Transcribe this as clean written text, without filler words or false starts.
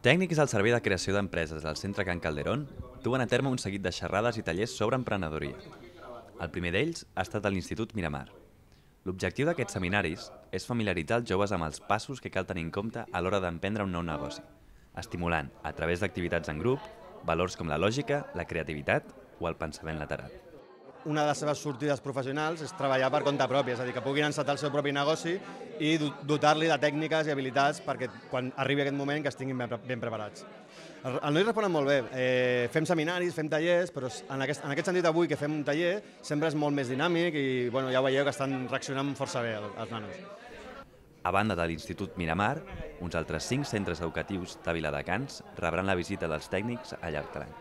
Tècnics al servei de creació d'empreses del Centre Can Calderón duen a terme un seguit de xerrades i tallers sobre emprenedoria. El primer d'ells ha estat a l'Institut Miramar. L'objectiu d'aquests seminaris és familiaritzar els joves amb els passos que cal tenir en compte a l'hora d'emprendre un nou negoci, estimulant, a través d'activitats en grup, valors com la lògica, la creativitat o el pensament lateral. Una de les seves sortides professionals és treballar per compte propi, és a dir, que puguin encetar el seu propi negoci i dotar-li de tècniques i habilitats perquè quan arribi aquest moment que estiguin ben preparats. El noi responen molt bé. Fem seminaris, fem tallers, però en aquest sentit avui que fem un taller sempre és molt més dinàmic i ja ho veieu que estan reaccionant força bé els nanos. A banda de l'Institut Miramar, uns altres 5 centres educatius de Viladecans rebran la visita dels tècnics al llarg de l'any.